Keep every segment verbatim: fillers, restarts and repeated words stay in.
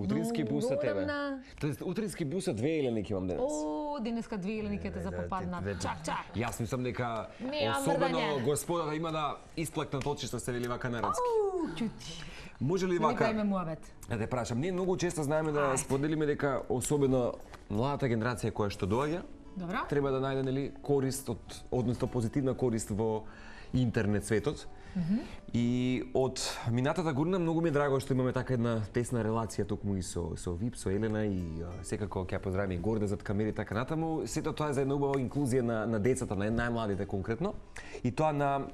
Утрински бус за тебе. Тоест утрински бус за две еленики имам денес. О, денеска две елениките за попаднат. Чак, чак. Јас мислам дека особено господата има да исплакнат очи што се вели вака народски. Оу, чути. Може ли вака? Не дајме муабет. Да те прашам, ние многу често знаеме да споделиме дека особено младата генерација која што доаѓа, Добра. треба да најде нели корист од, односно позитивна корист во интернет светот. Mm -hmm. И од минатата година многу ми е драго што имаме така една тесна релација токму и со со Вип, со Елена и а, секако ќе ја поздравиме и Горде зад камери така натаму. Сето тоа е за една убава инклузија на на децата, на најмладите конкретно. И тоа на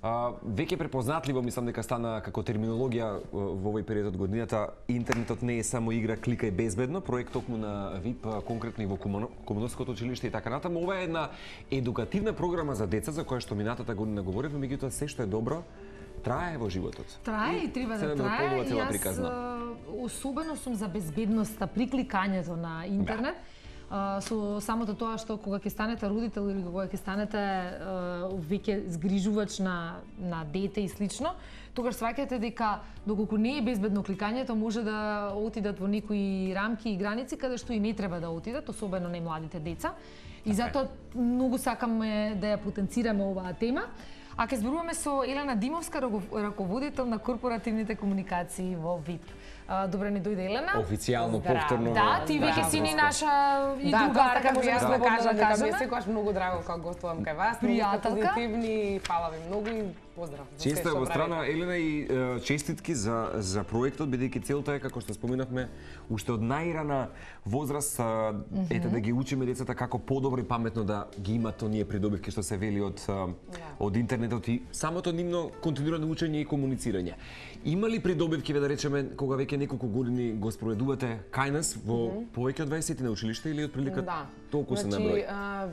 а, веќе препознатливо мислам дека стана како терминологија во овој период од годината. Интернетот не е само игра, клика и безбедно, проект токму на Вип, конкретно и во Комунското училиште и така натаму. Ова е една едукативна програма за деца за која што минатата година говоревме, меѓутоа се што е добро трае во животот. Трае и треба да трае. И јас особено сум за безбедноста при кликањето на интернет. Да. Со самото тоа што кога ќе станете родител или кога ќе станете веќе згрижувач на на дете и слично, тогаш сваќате дека доколку не е безбедно кликањето, може да отидат во некои рамки и граници каде што и не треба да отидат, особено не младите деца. И затоа многу сакаме да ја потенцираме оваа тема. А ке зборуваме со Елена Димовска, раководител на корпоративните комуникации во Вип. Добре ни дојде, Елена. Официјално, повторно. Да, ти веќе си ни наша и другарка, може да да кажам, дека ми е секогаш многу драго кога гостувам кај вас. Пријателка. Позитивни, фала ви многу и поздрав. Често е во страна, Елена, и е, честитки за, за проектот, бидејќи целта е, како што споминавме, уште од најрана возраст, mm -hmm. ете да ги учиме децата како подобро и паметно да ги имат оние придобивки што се вели од, yeah. од интернетот и самото нивно континуирано учење и комуницирање. Има ли придобивки, да речеме, кога веќе неколку години го спроведувате кај нас во mm -hmm. повеќе од дваесет на училиште или од прилика да. толку се значи, наброј?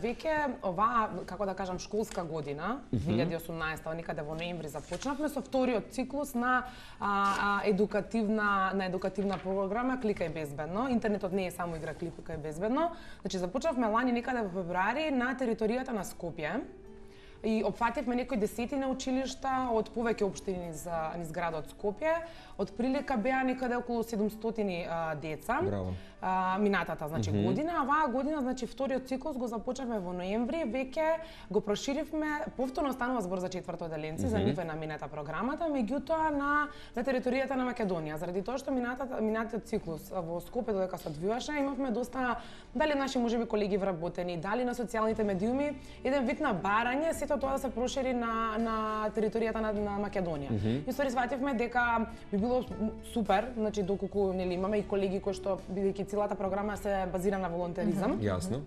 Веќе оваа, како да кажам, школска година, mm -hmm. две илјади и осумнаесета, некаде во ноември започнавме со вториот циклус на а, а, едукативна на едукативна програма Клика и безбедно. Интернетот не е само игра, клика и безбедно. Значи започнавме лани некаде во февруари на територијата на Скопје. И опфативме некои десетина училишта од повеќе општини низ, низ градот Скопје. Од прилика беа некаде околу седумстотини а, деца. Браво. А, минатата, значи, mm -hmm. година, а оваа година, значи, вториот циклус го започнавме во ноември, веќе го проширивме, повторно станува збор за четвртоделенци, mm -hmm. за нив е наменета програмата, меѓутоа на, на територијата на Македонија. Заради тоа што минатата, минатиот циклус во Скопје додека се одвиваше, имавме доста, дали наши можеби колеги вработени, дали на социјалните медиуми, еден вид на барање, сето тоа да се прошири на, на територијата на, на Македонија. Mm -hmm. И стори свативме дека би било супер, значи доколку нели имаме и колеги кои што бидејќи целата програма се базира на волонтеризам. Mm -hmm. Јасно.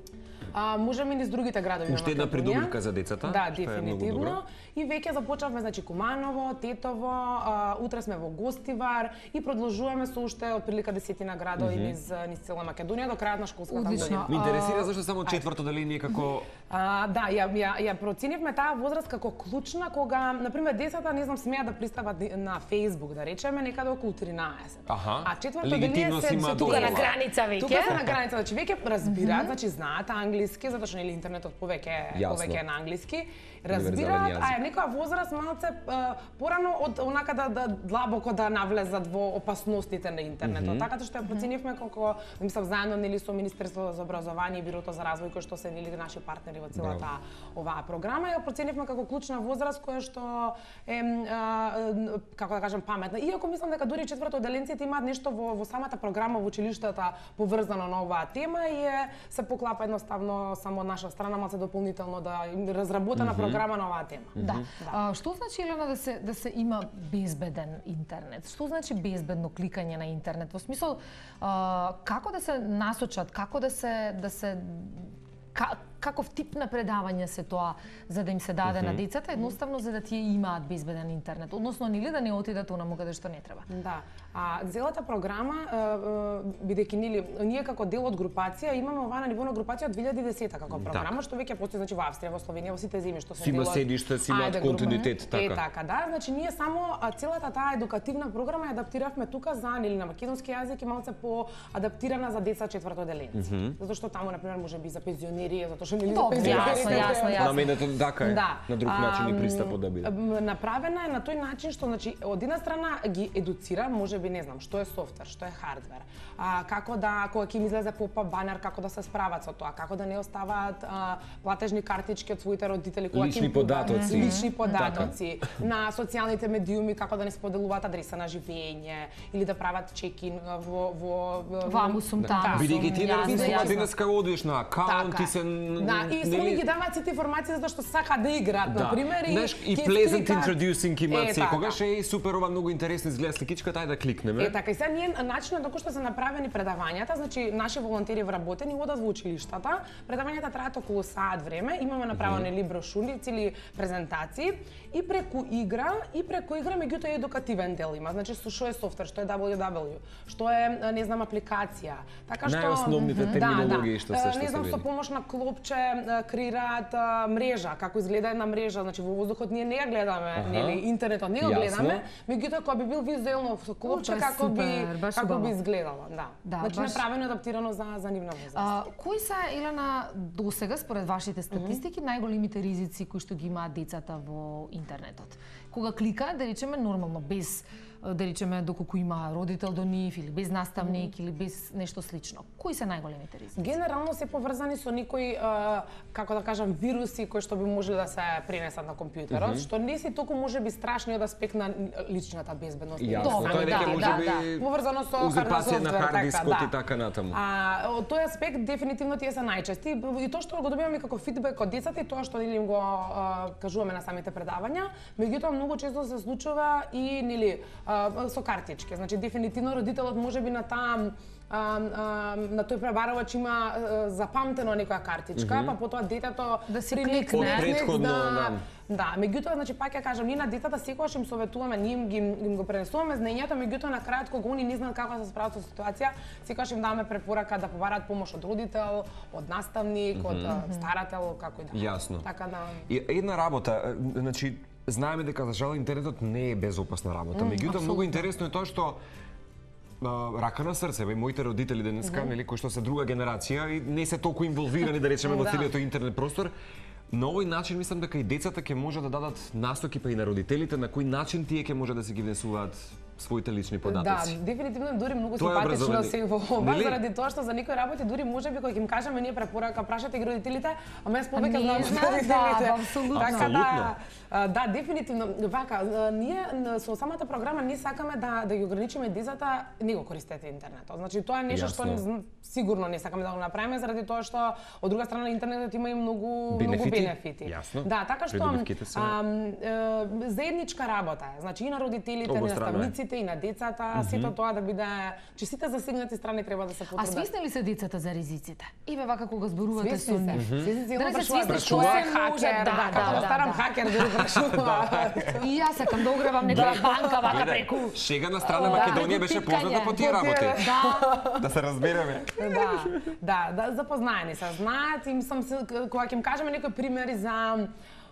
А, можеме и низ другите градови. Уште една придобивка за децата. Да, дефинитивно. И веќе започнавме, значи, Куманово, Тетово, а, утре сме во Гостивар и продолжуваме со уште од прилика десетина градови mm -hmm. низ, низ цела Македонија до крајот на школската година. Ме интересира зашто само четврто деление како... А, да, ја, ја, ја проценивме таа возраст како клучна кога, например, децата, не знам, смеат да пристапат на Facebook, да речеме, некаде околу тринаесет. Аха. А четврто деление се, се тука на граница веќе. Тука се на граница, значи веќе разбираат, mm -hmm. значи знаат англиски, затоа што нели интернетот повеќе повеќе на англиски. Разбираат, а е некоја возраст малце порано од онака да, да длабоко да навлезат во опасностите на интернетот. Mm -hmm. Така што ја проценивме како, мислам, заедно нели со Министерството за образование и Бирото за развој кои што се нели наши партнери во целата оваа програма, ја проценивме како клучна возраст која што е а, како да кажам паметна. Иако мислам дека дури четвртоделенците имаат нешто во во самата програма во училиштата поврзано на оваа тема и е се поклапа едноставно само од наша страна малце дополнително да разработена mm -hmm. програма на оваа тема. Да. да. А, што значи, Елена, да се да се има безбеден интернет? Што значи безбедно кликање на интернет? Во смисол, а, како да се насочат, како да се да се Ка, каков тип на предавање се тоа за да им се даде mm -hmm. на децата, едноставно за да тие имаат безбеден интернет, односно нели да не отидат онаму каде што не треба. Да. А целата програма, бидејќи нели ние како дел од групација имаме оваа на ниво на групација од две илјади и десета како програма, так. Што веќе постои, значи во Австрија, во Словенија, во сите земји што се дел од... Сима седиште, си имаат континуитет, така. Е, така, да. Значи ние само целата таа едукативна програма ја адаптиравме тука за нели на македонски јазик и малце по адаптирана за деца четвртоделенци. Mm -hmm. Затоа што таму на пример можеби за пензионери, затоа точно или Добро, јасно, јасно, јасно. На мене така е. На друг начин и пристапот да биде. Направена е на тој начин што, значи, од една страна ги едуцира, можеби не знам, што е софтвер, што е хардвер, а, како да, кога ќе им излезе поп-ап банер, како да се справат со тоа, како да не оставаат а, платежни картички од своите родители, кога лични им податоци, лични податоци, така. На социјалните медиуми, како да не споделуваат адреса на живење или да прават чекин во во ваму сум таму. Бидејќи ти не разбираш денеска одиш на акаунт, ти се да, и само ги даваат сите информации затоа што сакаат да играат, на пример, и и pleasant introducing имаат секогаш е супер, ова многу интересно изгледа сликичката, ајде да кликнеме. Е така, и сега ние начинот доколку што се направени предавањата, значи наши волонтери вработени одат во училиштата. Предавањата траат околу саат време, имаме направени или брошурици или презентации и преку игра и преку игра меѓутоа е едукативен дел има. Значи што е софтвер, што е дабл ю дабл ю, што е не знам апликација. Така што најосновните терминологии што се што не знам, со помош на клопче креираат мрежа, како изгледа една мрежа, значи во воздухот ние не ја гледаме, нели интернетот не го гледаме, меѓутоа кога би бил визуелно со клопче како би како би изгледало, да. Значи направено адаптирано за за нивна возраст. Кои се, Елена, досега според вашите статистики најголемите ризици кои што ги имаат децата во интернетот? Кога кликаат, да речеме нормално, без да речеме доколку има родител до нив или без наставник или без нешто слично. Кои се најголемите ризици? Генерално се поврзани со некои, како да кажам, вируси кои што би можеле да се пренесат на компјутерот, mm -hmm. што не си толку можеби страшни од аспект на личната безбедност. Јасно, тоа е можеби поврзано со узурпација на хард дискот и така натаму. А од тој аспект дефинитивно тие се најчести и тоа што го добиваме како фидбек од децата и тоа што нели им го кажуваме на самите предавања, меѓутоа многу често се случува и нели со картички. Значи дефинитивно родителот можеби на таа А, а, на тој пребарувач има а, запамтено некоја картичка, mm -hmm. па потоа детето да се кликне, предходно, да. Да, меѓутоа, значи пак ја кажам, ние на децата секогаш им советуваме, ние им ги им го пренесуваме знаењето, меѓутоа на крајот кога они не знаат како да се справат со ситуација, секогаш им даваме препорака да побараат помош од родител, од наставник, mm -hmm. од старател, како и да. Јасно. Така да. И една работа, значи знаеме дека за жал интернетот не е безопасна работа, Mm, меѓутоа многу интересно е тоа што рака на срце, бе, моите родители денеска, нели, кои што се друга генерација и не се толку инволвирани, да речеме, во целиот интернет простор, на овој начин мислам дека и децата ќе може да дадат настоки па и на родителите на кој начин тие ќе може да се ги внесуваат своите лични податоци. Да, дефинитивно дури многу симпатично се во ова, заради тоа што за некои работи дури можеби кога ќе им кажеме ние препорака, прашате ги родителите, ама јас повеќе знам за родителите. Да, апсолутно. Така да, да, дефинитивно, вака, ние со самата програма ние сакаме да да ги ограничиме децата, не го користете интернетот. Значи тоа е нешто што сигурно не сакаме да го направиме заради тоа што од друга страна интернетот има и многу многу бенефити. Јасно. Да, така што заедничка работа е. Значи и на родителите, и на наставниците, и на децата, mm -hmm. сето тоа да биде, че сите засегнати страни треба да се потрудат. А свесни ли се децата за ризиците? И бе вака кога зборувате со нив. Свесни се, едно прашуваат што е хакер, да, како да старам хакер да прашува. И јас сакам да ограбам некоја банка вака преку. Шега на страна Македонија беше позната по тие работи. Да. Да се разбереме. Да, да, да, запознаени се, знаат, им сам кога ќе им кажеме некои примери за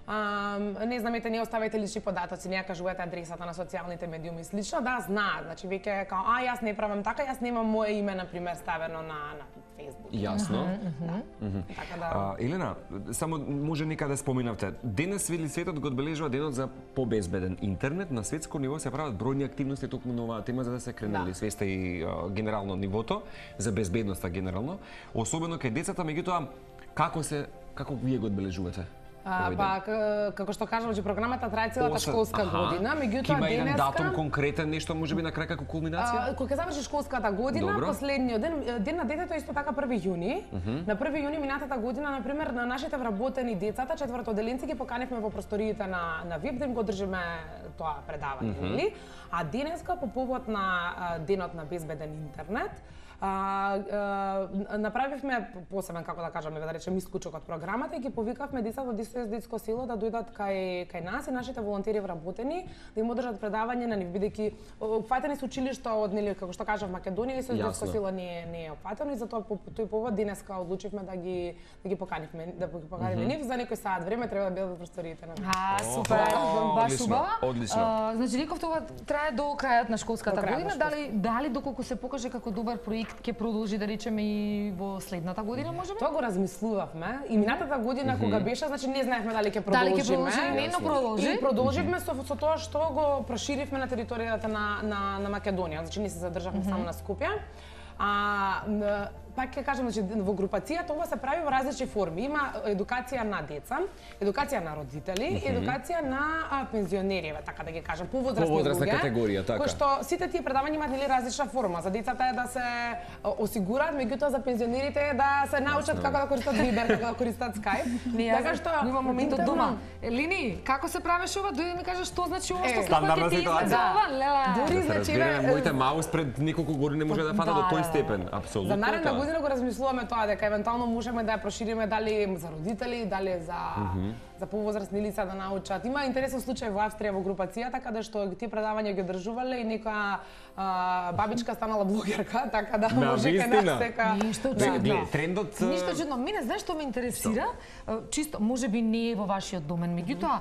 Um, не знам, ете, не оставајте лични податоци, не ја кажувате адресата на социјалните медиуми и слично, да, знаат, значи веќе као, а, јас не правам така, јас немам моје име, например, ставено на, на Facebook. Јасно. Mm -hmm. Mm -hmm. Така да... А, Елена, само може некаде споменавте, денес вели светот го одбележува денот за побезбеден интернет, на светско ниво се прават бројни активности токму на оваа тема за да се кренели да. свеста и а, генерално нивото, за безбедноста генерално, особено кај децата, меѓутоа, како се, како вие го одбележувате? А, па, како што кажам, че програмата трае целата школска аха, година, меѓутоа денеска... Има еден датум конкретен, нешто можеби на крај како кулминација? Кога заврши школската година, добро. Последниот ден, ден на детето исто така први јуни. Uh -huh. На први јуни минатата година, например, на нашите вработени децата, четвртоделенци ги поканивме во просториите на на ВИП да им го држиме тоа предавање, uh -huh. нели? А денеска по повод на денот на безбеден интернет, А, а, направивме посебен, како да кажаме, да речем, исклучок од програмата и ги повикавме децата од ес о ес детско село да дојдат кај кај нас и нашите волонтери вработени да им одржат предавање на нив, бидејќи опфатени се училишта од, нели, како што кажав, Македонија, ес о ес детско село не е не е опфатено и затоа по тој повод денеска одлучивме да ги да ги поканивме, да ги поканиме mm -hmm. нив за некој сат време треба да бидат во просториите на. А, супер, баш убаво. Одлично. Значи, реков тоа трае до крајот на школската година, дали дали доколку се покаже како добар проект ќе продолжи да речеме и во следната година можеби? Тоа го размислувавме и минатата година mm -hmm. кога беше, значи не знаевме дали ќе продолжиме. Дали ќе продолжиме, не, но продолжи. И продолживме со, со тоа што го проширивме на територијата на на на Македонија, значи не се задржавме mm -hmm. само на Скопје. А пак ќе кажам, значи во групацијата ова се прави во различни форми. Има едукација на деца, едукација на родители, mm -hmm. едукација на а, пензионери, така да ги кажам, повозрастни луѓе. Повозрастна категорија, така. Кој што сите тие предавања имаат нели различна форма. За децата е да се осигураат, меѓутоа за пензионерите е да се научат како да користат Viber, како да користат Skype. Така што има момент од дома. Лини, како се правеше ова? Дојди ми кажеш што значи ова, што како ќе ти изгледа ова? Дури значи моите маус пред неколку години може да фана до тој степен, апсолутно. За наредна година го размислуваме тоа дека евентуално можеме да ја прошириме дали за родители, дали за mm -hmm. за повозрастни лица да научат. Има интересен случај во Австрија во групацијата каде што тие предавања ги одржувале и некоја бабичка станала блогерка, така да може кај нас дека ништо чудно. Трендот ништо чудно. Мене знаеш што ме интересира? Чисто можеби не е во вашиот домен, меѓутоа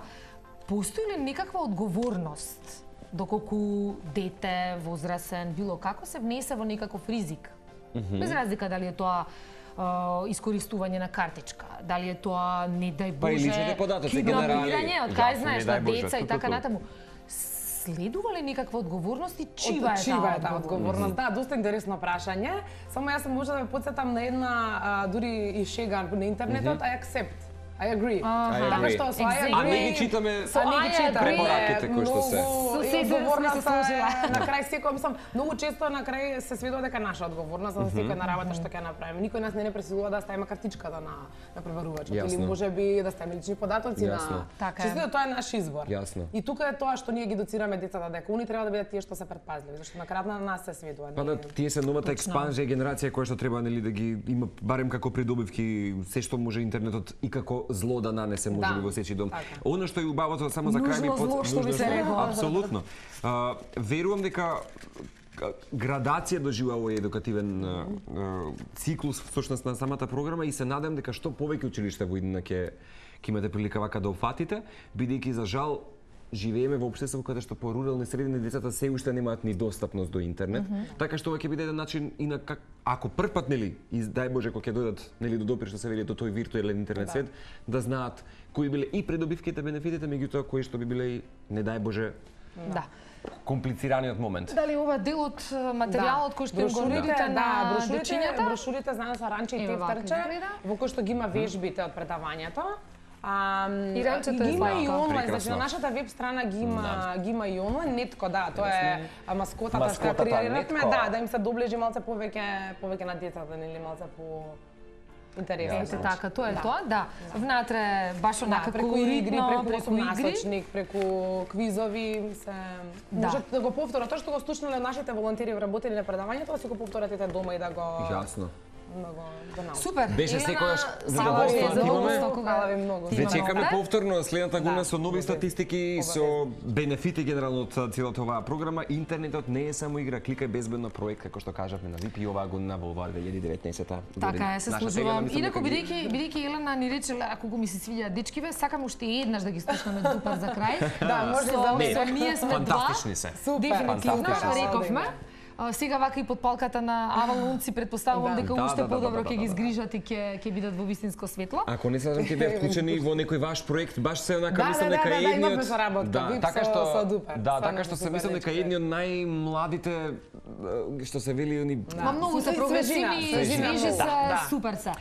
постои ли некаква одговорност доколку дете, возрасен, било како се внесе во некаков ризик? Mm -hmm. Без разлика дали е тоа uh, искористување на картичка, дали е тоа, не дај Боже, па и личните податоци генерални, од кај знаеш, на деца и така натаму. Следува ли некаква одговорност и чива е таа одговорност? одговорност? Да, доста интересно прашање. Само јас може да ве потсетам на една, а, дури и шега на интернетот, I accept. I agree. Така што со I agree. А не ги читаме со I agree препораките кои што се. Со се одговорност на крај секој мислам, многу често на крај се сведува дека наша одговорност за секој на работа што ќе направиме. Никој нас не не пресилува да ставиме картичката на на преварувачот или можеби да ставиме лични податоци на. Така чисто тоа е наш избор. Јасно. И тука е тоа што ние ги доцираме децата дека они треба да бидат тие што се претпазливи, зашто на крајот на нас се сведува. Па да, тие се новата експанзија генерација која што треба нели да ги има барем како придобивки се што може интернетот и како зло да нанесе може би во сечи дом. Оно што е убавото само за крај ми под апсолутно. Верувам дека градација доживува овој едукативен циклус всушност на самата програма и се надам дека што повеќе училишта во иднина ќе ќе имате прилика вака да опфатите, бидејќи за жал живееме во општество каде што по рурални средини децата се уште немаат ни достапност до интернет, mm -hmm. така што ова ќе биде еден начин и на как ако првпат нели и дај Боже кога ќе дојдат нели до допир што се вели до тој виртуелен интернет свет, да, да знаат кои биле и придобивките, бенефитите, меѓутоа кои што би биле и не дај Боже да комплицираниот момент. Дали ова дел од материјалот кој што им го нудите на брошурите, брошурите знаеме со Ранче и Тефтерче, во кој што ги има вежбите од предавањето. А, и ранчето ги има и онлайн, значи на нашата веб страна ги има да. ги има и онлайн, Нетко, да, тоа е маскотата што креираме, да, да им се доближи малце повеќе повеќе на децата, нели малце по интересно. Ете така, тоа е да. тоа, да. Внатре баш онака да, преку игри, преку насочник, преку квизови се да. Можат да го повторат тоа што го слушнале нашите волонтери вработени на предавањето, да си го повторат дома и да го Јасно. Много да супер. Беше секогаш задоволство да имаме. Хвала ви многу. Ве чекаме повторно следната година со нови статистики, со бенефити генерално од целата оваа програма. Интернетот не е само игра, кликај безбедно проект како што кажавме на ВИП и оваа година во оваа две илјади и деветнаесетта година. Така е, се служувам. Инаку бидејќи бидејќи Елена ни рече ако го ми се свиѓа дечкиве, сакам уште еднаш да ги слушнеме Дупар за крај. Да, може за ние сме фантастични се. Дефинитивно, рековме. Сега вака и под палката на Авалунци предпоставувам дека уште подобро ќе ги згрижат и ќе ќе бидат во вистинско светло. Ако не сакам ќе бев вклучени во некој ваш проект, баш се онака мислам дека е едниот да, така што да, така што се мислам дека едни од најмладите што се вели они многу се прогресивни, свежи се, супер се.